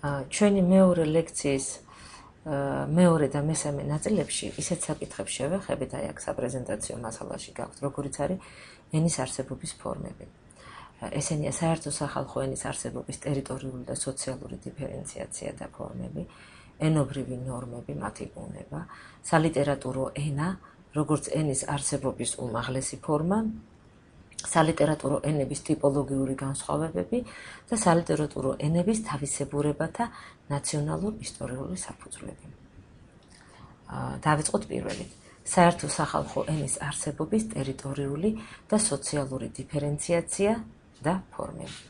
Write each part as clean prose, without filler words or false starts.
ჩვენი მეორე ლექციის მეორე და მესამე ნაწილებში ისეთ საკითხებს შევეხებით, აი აქ საპრეზენტაციო მასალაში გაქვთ, როგორიც არის ენის არსებობის ფორმები. ესენია საერთო სახალხო ენის არსებობის ტერიტორიული და სოციალური დიფერენციაცია და ფორმები, ენობრივი ნორმები, მათი ბუნება, სალიტერატურო ენა, როგორც ენის არსებობის უმაღლესი ფორმა, სალიტერატურო ენების ტიპოლოგიური განსხვავებები და სალიტერატურო ენების თავისებურებათა ნაციონალურ ისტორიული საფუძვლები. დავიწყოთ პირველით. საერთო სახალხო ენის არსებობის ტერიტორიული და სოციალური დიფერენციაცია და ფორმები.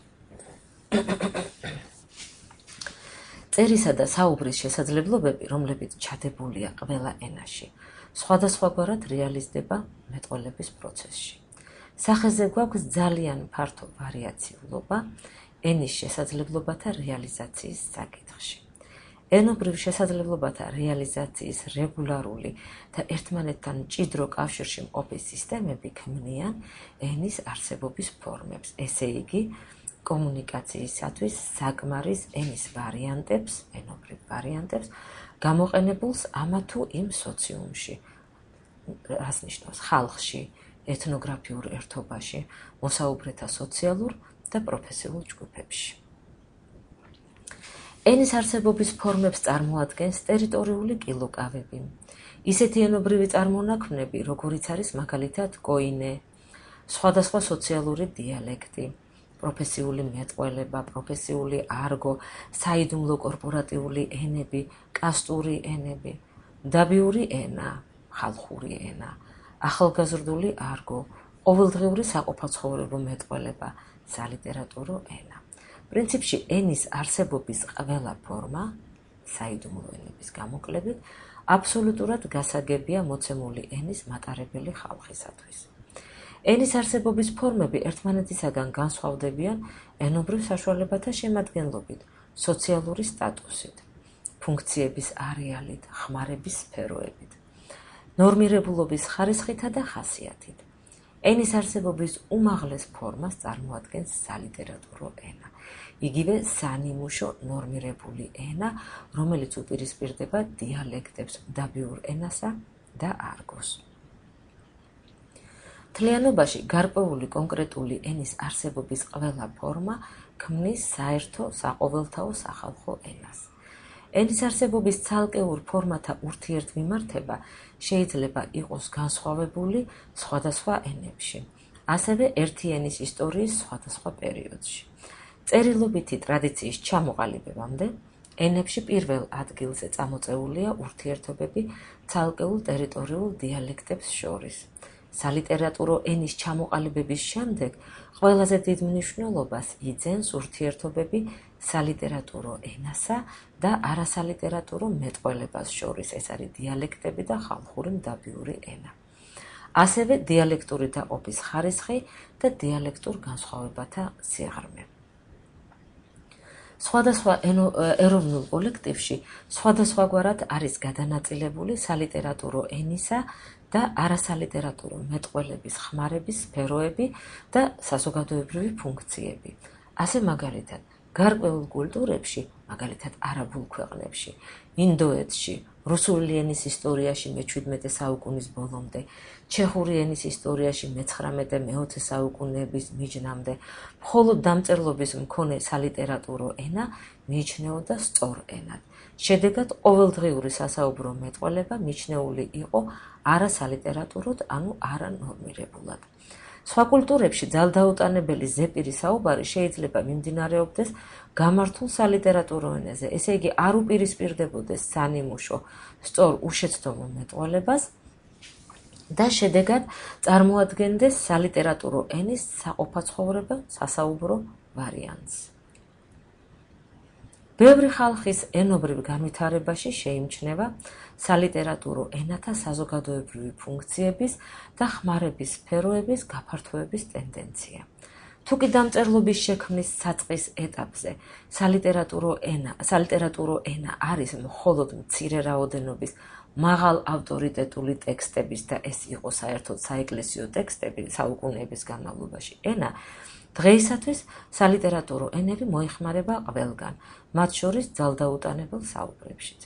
წერისა და საუბრის შესაძლებლობები, რომლებიც ჩადებულია ყველა ენაში, სხვადასხვაგვარად რეალიზდება მეტყველების პროცესში. სახეზე გვაქვს ძალიან ფართო ვარიაციულობა ენის შესაძლებლობათა რეალიზაციის საკითხში. ენობრივ შესაძლებლობათა რეალიზაციის რეგულარული და ერთმანეთთან მჭიდრო კავშირში მყოფი სისტემები ქმნიან ენის არსებობის ფორმებს, ესე იგი, კომუნიკაციისათვის საკმარის ენის ვარიანტებს, ენობრივ ვარიანტებს, გამოყენებულს ამა თუ იმ სოციუმში, რას ნიშნავს ხალხში, ეთნოგრაფიულ ერთობაში, მოსაუბრეთა სოციალურ და პროფესიულ ჯგუფებში. ენის არსებობის ფორმებს წარმოადგენს ტერიტორიული კილოკავები. ისეთი ენობრივი წარმონაქმნები, როგორიც არის მაგალითად კოინე, სხვადასხვა სოციალური დიალექტი, პროფესიული მეტყველება, პროფესიული არგო, საიდუმლო კორპორატიული ენები, კასტური ენები, დაბიური ენა, ხალხური ენა, ახალგაზრდული არგო, ყოველდღიური საყოფაცხოვრებო მეტყველება, სალიტერატურო ენა. პრინციპში ენის არსებობის ყველა ფორმა, საიდუმლო ენების გამოკლებით, აბსოლუტურად გასაგებია მოცემული ენის მატარებელი ხალხისათვის. ენის არსებობის ფორმები ერთმანეთისაგან განსხვავდებიან ენობრივ საშუალებათა შემადგენლობით, სოციალური სტატუსით, ფუნქციების არეალით, ხმარების სფეროებით, ნორმირებულობის ხარისხითა და ხასიათით. ენის არსებობის უმაღლეს ფორმას წარმოადგენს სალიტერატურო ენა. იგივე სანიმუშო ნორმირებული ენა, რომელიც უპირისპირდება დიალექტებს, დაბიურ ენასა და არგოს. მთლიანობაში გარკვეული კონკრეტული ენის არსებობის ყველა ფორმა ქმნის საერთო საყოველთაო სახალხო ენას. ენის არსებობის ცალკეულ ფორმათა ურთიერთმიმართება შეიძლება იყოს განსხვავებული სხვადასხვა ენებში, ასევე ერთი ენის ისტორიის სხვადასხვა პერიოდში. წერილობითი ტრადიციის ჩამოყალიბებამდე ენებში პირველ ადგილზე წამოწეულია ურთიერთობები ცალკეულ ტერიტორიულ დიალექტებს შორის. სალიტერატურო ენის ჩამოყალიბების შემდეგ ყველაზე დიდ მნიშვნელობას იძენს ურთიერთობები სალიტერატურო ენასა და არასალიტერატურო მეტყველებას შორის, ეს არის დიალექტები და ხალხური მდაბიური ენა. ასევე დიალექტური დაყოფის ხარისხი და დიალექტურ განსხვავებათა სიღრმე. სხვადასხვა ეროვნულ კოლექტივში სხვადასხვაგვარად არის გადანაწილებული სალიტერატურო ენისა და არასალიტერატურო მეტყველების ხმარების სფეროები და საზოგადოებრივი ფუნქციები. ასე მაგალითად, გარკვეულ კულტურებში, მაგალითად არაბულ ქვეყნებში, ინდოეთში, რუსული ენის ისტორიაში მე-17 საუკუნის ბოლომდე, ჩეხური ენის ისტორიაში მე-19 და მე-20 საუკუნეების მიჯნამდე, მხოლოდ დამწერლობის მქონე სალიტერატურო ენა მიიჩნეოდა სწორ ენად. შედეგად, ყოველდღიური სასაუბრო მეტყველება მიჩნეული იყო არასალიტერატუროდ, ანუ არანორმირებულად. სხვა კულტურებში ძალდაუტანებელი ზეპირი საუბარი შეიძლება მიმდინარეობდეს გამართულ სალიტერატურო ენაზე, ესე იგი არ უპირისპირდებოდეს სანიმუშო სწორ უშეცდომო მეტყველებას და შედეგად წარმოადგენდეს სალიტერატურო ენის საყოფაცხოვრებო სასაუბრო ვარიანტს. ბევრი ხალხის ენობრივ განვითარებაში შეიმჩნევა სალიტერატურო ენათა საზოგადოებრივი ფუნქციების და ხმარების სფეროების გაფართოების ტენდენცია. თუკი დამწერლობის შექმნის საწყის ეტაპზე სალიტერატურო ენა არის მხოლოდ მცირე რაოდენობის მაღალ ავტორიტეტული ტექსტების და ეს იყო საერთოდ საეკლესიო ტექსტები საუკუნეების განმავლობაში ენა, დღეისათვის სალიტერატურო ენები მოიხმარება ყველგან, მათ შორის ძალდაუტანებელ საუბრებშიც.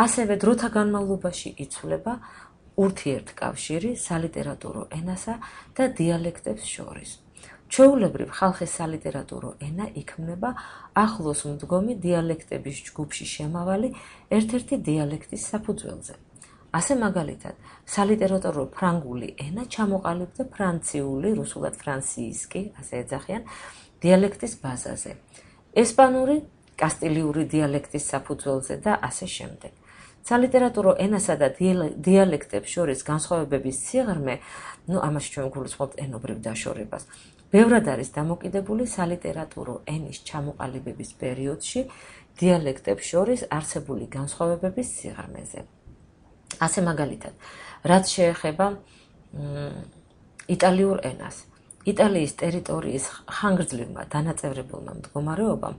ასევე დროთა განმავლობაში იცვლება ურთიერთკავშირი სალიტერატურო ენასა და დიალექტებს შორის. ჩვეულებრივ ხალხის სალიტერატურო ენა იქმნება ახლოს მდგომი დიალექტების ჯგუფში შემავალი ერთ-ერთი დიალექტის საფუძველზე. ასე მაგალითად, სალიტერატურო ფრანგული ენა ჩამოყალიბდა ფრანციული, რუსულად ფრანსიისკი, ასე ეძახიან, დიალექტის ბაზაზე. ესპანური, კასტილიური დიალექტის საფუძველზე და ასე შემდეგ. სალიტერატურო ენასა და დიალექტებს შორის განსხვავებების სიღრმე, ამაში ჩვენ გულისხმობთ ენობრივ დაშორებას, ბევრად არის დამოკიდებული სალიტერატურო ენის ჩამოყალიბების პერიოდში დიალექტებს შორის არსებული განსხვავებების სიღრმეზე. ასე მაგალითად, რაც შეეხება იტალიურ ენას, იტალიის ტერიტორიის ხანგრძლივმა დანაწევრებულმა მდგომარეობამ,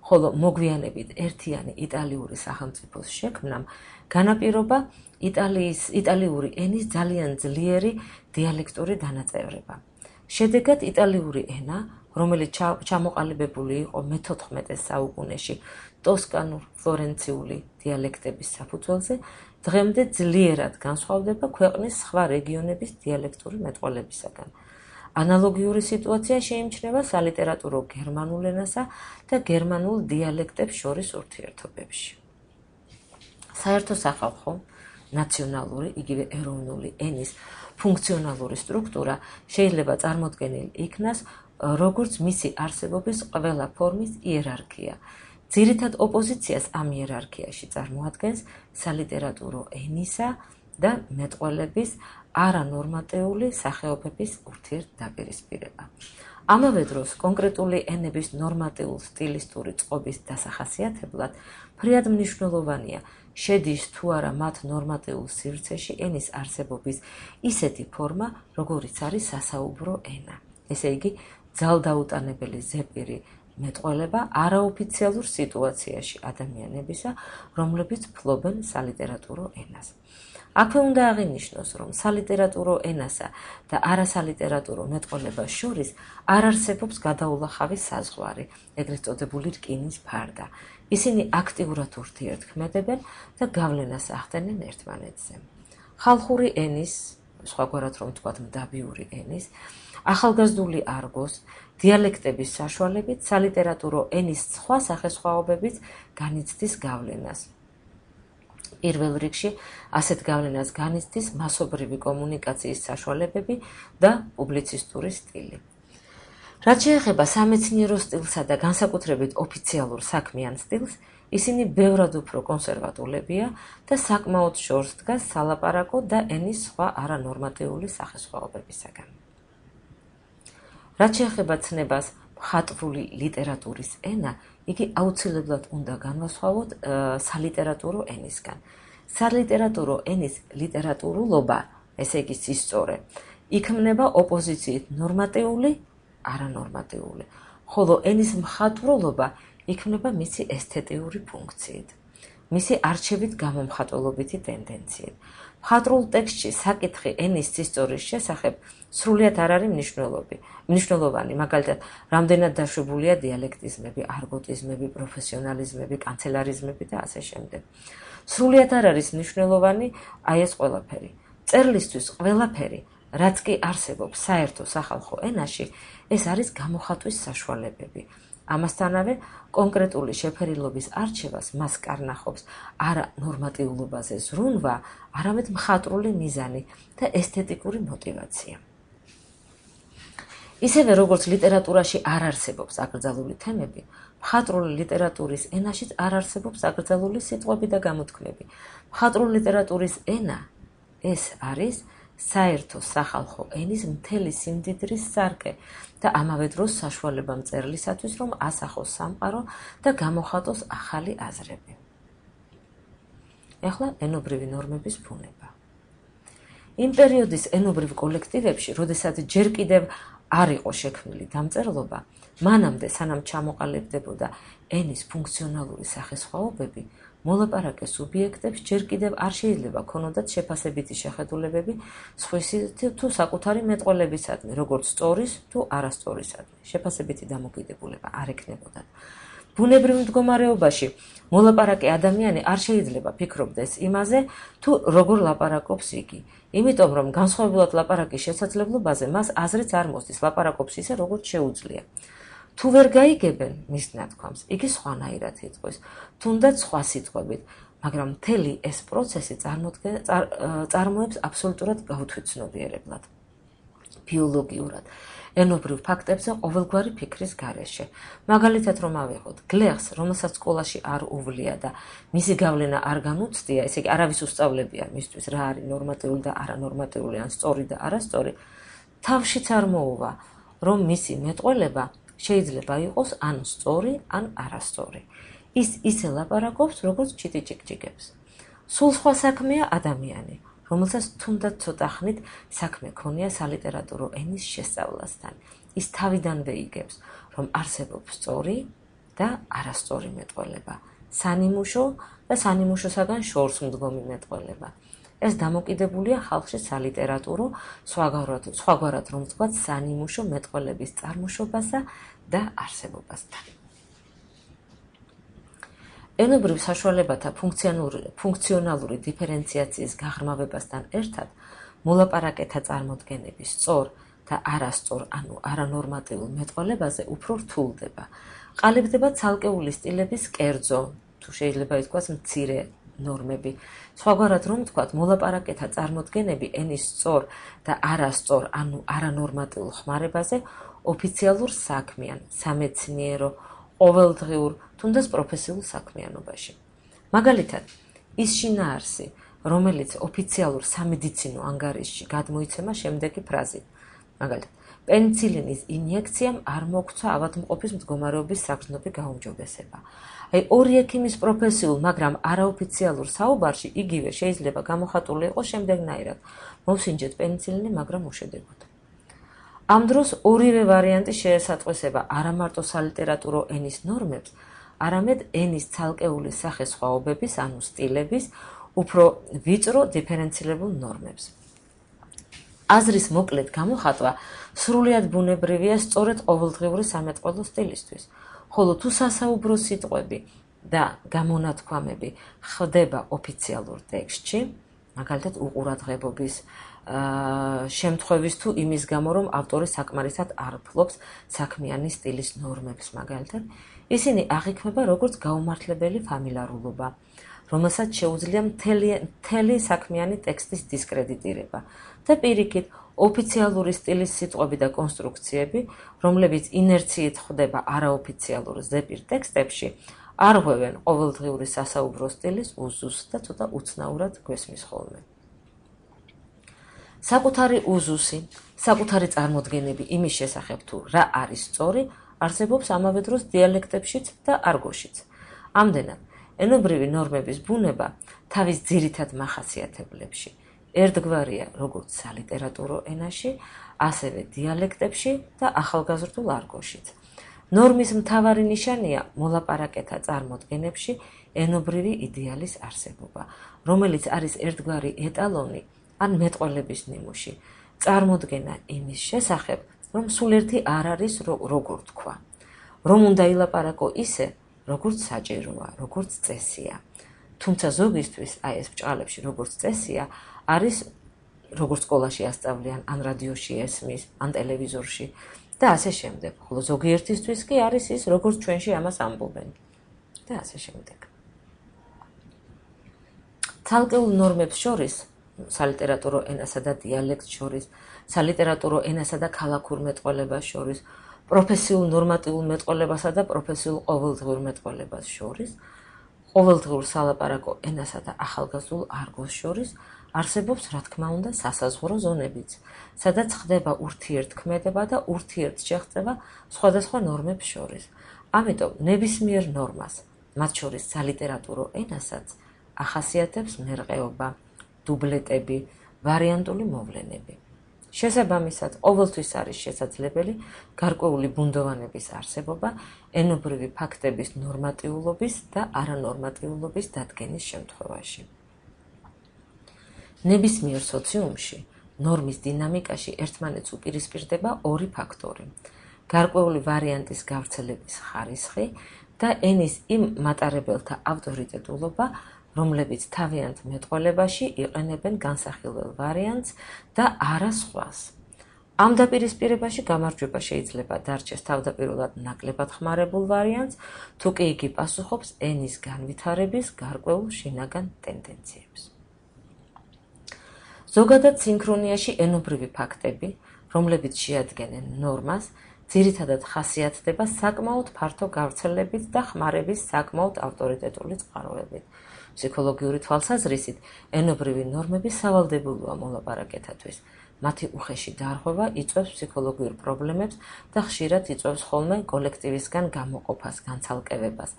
ხოლო მოგვიანებით ერთიანი იტალიური სახელმწიფოს შექმნამ, განაპირობა იტალიური ენის ძალიან ძლიერი დიალექტური დანაწევრება. შედეგად იტალიური ენა, რომელიც ჩამოყალიბებული იყო მე-14 საუკუნეში ტოსკანურ ფლორენციული დიალექტების საფუძველზე, დღემდე ძლიერად განსხვავდება ქვეყნის სხვა რეგიონების დიალექტური მეტყველებისაგან. ანალოგიური სიტუაცია შეიმჩნევა სალიტერატურო გერმანულ ენასა და გერმანულ დიალექტებს შორის ურთიერთობებში. საერთო სახალხო, ნაციონალური, იგივე ეროვნული ენის ფუნქციონალური სტრუქტურა შეიძლება წარმოდგენილ იქნას როგორც მისი არსებობის ყველა ფორმის იერარქია. ძირითად ოპოზიციას ამ იერარქიაში წარმოადგენს სალიტერატურო ენისა და მეტყველების არანორმატიული სახეობების ურთიერთდაპირისპირება. ამავე დროს კონკრეტული ენების ნორმატიულ სტილისტური წყობის დასახასიათებლად ფრიად მნიშვნელოვანია შედის თუ არა მათ ნორმატიულ სივრცეში ენის არსებობის ისეთი ფორმა, როგორიც არის სასაუბრო ენა. ესე იგი, ძალდაუტანებელი ზეპირი მეტყველება არაოფიციალურ სიტუაციაში ადამიანებისა, რომლებიც ფლობენ სალიტერატურო ენას. აქვე უნდა აღინიშნოს, რომ სალიტერატურო ენასა და არასალიტერატურო მეტყველებას შორის არ არსებობს გადაულახავი საზღვარი, ეგრეთ წოდებული რკინის ფარდა. ისინი აქტიურად ურთიერთქმედებენ და გავლენას ახდენენ ერთმანეთზე. ხალხური ენის, სხვაგვარად რომ ვთქვათ მდაბიური ენის, ახალგაზრდული არგოს, დიალექტების საშუალებით სალიტერატურო ენის სხვა სახესხვაობებით განიცდის გავლენას. პირველ რიგში ასეთ გავლენას განიცდის მასობრივი კომუნიკაციის საშუალებები და პუბლიცისტური სტილი. რაც შეეხება სამეცნიერო სტილსა და განსაკუთრებით ოფიციალურ საქმიან სტილს, ისინი ბევრად უფრო კონსერვატულებია და საკმაოდ შორს დგას სალაპარაკო და ენის სხვა არანორმატიული სახესხვაობებისაგან. რაც შეეხება ცნებას მხატვრული ლიტერატურის ენა, იგი აუცილებლად უნდა განვასხვაოთ სალიტერატურო ენისგან. სალიტერატურო ენის ლიტერატურულობა, ესე იგი სისწორე, იქმნება ოპოზიციით ნორმატიული, არანორმატიული, ხოლო ენის მხატვრულობა იქმნება მისი ესთეტიური ფუნქციით, მისი არჩევით გამომხატველობითი ტენდენციით. მხატვრულ ტექსტში საკითხი ენის სისწორის შესახებ სრულიად არ არის მნიშვნელოვანი, მაგალითად, რამდენად დაშვებულია დიალექტიზმები, არგოტიზმები, პროფესიონალიზმები, კანცელარიზმები და ასე შემდეგ. სრულიად არ არის მნიშვნელოვანი აი ეს ყველაფერი. მწერლისთვის ყველაფერი, რაც კი არსებობს საერთო სახალხო ენაში, ეს არის გამოხატვის საშუალებები. ამასთანავე, კონკრეტული შეფერილობის არჩევას მას კარნახობს არა ნორმატიულობაზე ზრუნვა, არამედ მხატვრული მიზანი და ესთეტიკური მოტივაცია. ისევე როგორც ლიტერატურაში არ არსებობს აკრძალული თემები, მხატვრული ლიტერატურის ენაშიც არ არსებობს აკრძალული სიტყვები და გამოთქმები. მხატვრული ლიტერატურის ენა ეს არის საერთო სახალხო ენის მთელი სიმდიდრის სარკე და ამავე დროს საშუალება მწერლისათვის, რომ ასახოს სამყარო და გამოხატოს ახალი აზრები. ეხლა ენობრივი ნორმების ბუნება. იმ პერიოდის ენობრივ კოლექტივებში, როდესაც ჯერ კიდევ არ იყო შექმნილი დამწერლობა, მანამდე სანამ ჩამოყალიბდებოდა ენის ფუნქციონალური სახესხვაობები, მოლაპარაკე სუბიექტებს ჯერ კიდევ არ შეიძლება ქონოდათ შეფასებითი შეხედულებები სხვისი თუ საკუთარი მეტყველებისადმი, როგორც სწორის თუ არასწორისადმი. შეფასებითი დამოკიდებულება არ ექნებოდათ. ბუნებრივ მდგომარეობაში მოლაპარაკე ადამიანი არ შეიძლება ფიქრობდეს იმაზე, თუ როგორ ლაპარაკობს იგი. იმიტომ რომ განსხვავებულად ლაპარაკის შესაძლებლობაზე მას აზრიც არ მოსდის ლაპარაკობს ისე, როგორც შეუძლია. თუ ვერ გაიგებენ მის ნათქვამს, იგი სხვანაირად იტყვის, თუნდაც სხვა სიტყვებით, მაგრამ მთელი ეს პროცესი წარმოებს აბსოლუტურად გაუთვითცნობიერებლად. ბიოლოგიურად, ენობრივ ფაქტებზე ყოველგვარი ფიქრის გარეშე. მაგალითად რომ ავიღოთ, გლეხს, რომელსაც სკოლაში არ უვლია და მისი გავლენა არ განუცდია, ესე იგი არავის უსწავლებია მისთვის რა არის ნორმატიული და არანორმატიული, ან სწორი და არასწორი, თავშიც არ მოუვა, რომ მისი მეტყველება შეიძლება იყოს ან სწორი, ან არასწორი. ის ისე ლაპარაკობს, როგორც ჩიტიჭიკჭიკებს. სულ სხვა საქმეა ადამიანი, რომელსაც თუნდაც ცოტა ხნით საქმე ქონია სალიტერატურო ენის შესწავლასთან. ის თავიდანვე იგებს, რომ არსებობს სწორი და არასწორი მეტყველება, სანიმუშო და სანიმუშოსაგან შორს მდგომი მეტყველება. ეს დამოკიდებულია ხალხში სალიტერატურო, სხვაგვარად რომ ვთქვათ, სანიმუშო მეტყველების წარმოშობასა და არსებობასთან. ენობრივ საშუალებათა ფუნქციონალური დიფერენციაციის გაღრმავებასთან ერთად, მოლაპარაკეთა წარმოდგენების სწორ და არასწორ, ანუ არანორმატიულ მეტყველებაზე უფრო რთულდება. ყალიბდება ცალკეული სტილების კერძო, თუ შეიძლება ითქვას მცირე ნორმები. სხვაგვარად რომ ვთქვათ, მოლაპარაკეთა წარმოდგენები ენის სწორ და არასწორ, ანუ არანორმატიულ ხმარებაზე ოფიციალურ საქმიან, სამეცნიერო, ყოველდღიურ, თუნდაც პროფესიულ საქმიანობაში. მაგალითად, ის შინაარსი, რომელიც ოფიციალურ სამედიცინო ანგარიშში გადმოიცემა შემდეგი ფრაზით. მაგალითად, პენიცილინის ინიექციამ არ მოგცვა ავადმყოფის მდგომარეობის საგრძნობი გაუმჯობესება. აი, ორი ექიმის პროფესიულ, მაგრამ არაოფიციალურ საუბარში იგივე შეიძლება გამოხატული იყოს შემდეგნაირად. მოვსინჯეთ პენიცილინი, მაგრამ უშედეგოდ. ამ დროს ორივე ვარიანტი შეესატყვისება არა მარტო სალიტერატურო ენის ნორმებს, არამედ ენის ცალკეული სახესხვაობების, ანუ სტილების, უფრო ვიწრო დიფერენცილებულ ნორმებს. აზრის მოკლედ გამოხატვა სრულიად ბუნებრივია სწორედ ყოველდღიური სამეტყველო სტილისთვის, ხოლო თუ სასაუბრო სიტყვები და გამონათქვამები ხდება ოფიციალურ ტექსტში, მაგალითად უყურადღებობის შემთხვევის თუ იმის გამო, რომ ავტორი საკმარისად არ ფლობს საქმიანი სტილის ნორმებს, მაგალითად, ისინი აღიქმება როგორც გაუმართლებელი ფამილიარულობა, რომელსაც შეუძლია მთელი საქმიანი ტექსტის დისკრედიტირება და პირიქით, ოფიციალური სტილის სიტყვები და კონსტრუქციები, რომლებიც ინერციით ხდება არაოფიციალურ ზეპირ ტექსტებში, არ ღვევენ ყოველდღიური სასაუბრო სტილის უზუსს და ცოტა უცნაურად გვესმის ხოლმე. საკუთარი უზუსი, საკუთარი წარმოდგენები იმის შესახებ თუ რა არის სწორი, არსებობს ამავე დროს დიალექტებშიც და არგოშიც. ამდენად, ენობრივი ნორმების ბუნება თავის ძირითად მახასიათებლებში ერთგვარია როგორც სალიტერატურო ენაში, ასევე დიალექტებში და ახალგაზრდულ არგოშიც. ნორმის მთავარი ნიშანია მოლაპარაკეთა წარმოდგენებში ენობრივი იდეალის არსებობა, რომელიც არის ერთგვარი ეტალონი ან მეტყველების ნიმუში, წარმოდგენა იმის შესახებ, რომ სულ ერთი არ არის როგორ თქვა, რომ უნდა ილაპარაკო ისე, როგორც საჭიროა, როგორც წესია. თუმცა ზოგისთვის, აი ეს ბჭყალებში როგორც წესია, არის როგორც სკოლაში ასწავლიან, ან რადიოში ესმის, ან ტელევიზორში და ასე შემდეგ. ხოლო ზოგიერთისთვის კი არის ის, როგორც ჩვენში ამას ამბობენ და ასე შემდეგ. ცალკეულ ნორმებს შორის, სალიტერატურო ენასა და დიალექტს შორის, სალიტერატურო ენასა და ქალაქურ მეტყველებას შორის, პროფესიულ ნორმატიულ მეტყველებასა და პროფესიულ ყოველდღიურ მეტყველებას შორის, ყოველდღიურ სალაპარაკო ენასა და ახალგაზრდულ არგოს შორის არსებობს, რა თქმა უნდა, სასაზღვრო ზონებიც, სადაც ხდება ურთიერთქმედება და ურთიერთშეღწევა სხვადასხვა ნორმებს შორის. ამიტომ ნებისმიერ ნორმას, მათ შორის სალიტერატურო ენასაც, ახასიათებს მერყეობა, დუბლეტები, ვარიანტული მოვლენები. შესაბამისად, ყოველთვის არის შესაძლებელი გარკვეული ბუნდოვანების არსებობა ენობრივი ფაქტების ნორმატიულობის და არანორმატიულობის დადგენის შემთხვევაში. ნებისმიერ სოციუმში ნორმის დინამიკაში ერთმანეთს უპირისპირდება ორი ფაქტორი: გარკვეული ვარიანტის გავრცელების ხარისხი და ენის იმ მატარებელთა ავტორიტეტულობა, რომლებიც თავიანთ მეტყველებაში იყენებენ განსახილველ ვარიანტს და არა სხვას. ამ დაპირისპირებაში გამარჯვება შეიძლება დარჩეს თავდაპირველად ნაკლებად ხმარებულ ვარიანტს, თუ კი იგი პასუხობს ენის განვითარების გარკვეულ შინაგან ტენდენციებს. ზოგადად სინქრონიაში ენობრივი ფაქტები, რომლებიც შეადგენენ ნორმას, ძირითადად ხასიათდება საკმაოდ ფართო გავრცელებით და ხმარების საკმაოდ ავტორიტეტული წყაროებით. ფსიქოლოგიური თვალსაზრისით, ენობრივი ნორმები სავალდებულოა მოლაპარაკეთათვის. მათი უხეში დარღვევა იწვევს ფსიქოლოგიურ პრობლემებს და ხშირად იწვევს ხოლმე კოლექტივისგან გამოყოფას, განცალკევებას.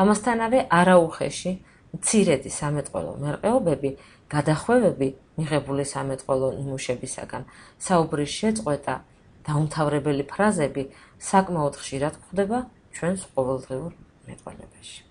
ამასთანავე არაუხეში მცირედი სამეტყველო მერყეობები, გადახვევები მიღებული სამეტყველო ნიმუშებისაგან, საუბრის შეწყვეტა, დაუმთავრებელი ფრაზები საკმაოდ ხშირად გვხვდება ჩვენს ყოველდღიურ მეტყველებაში.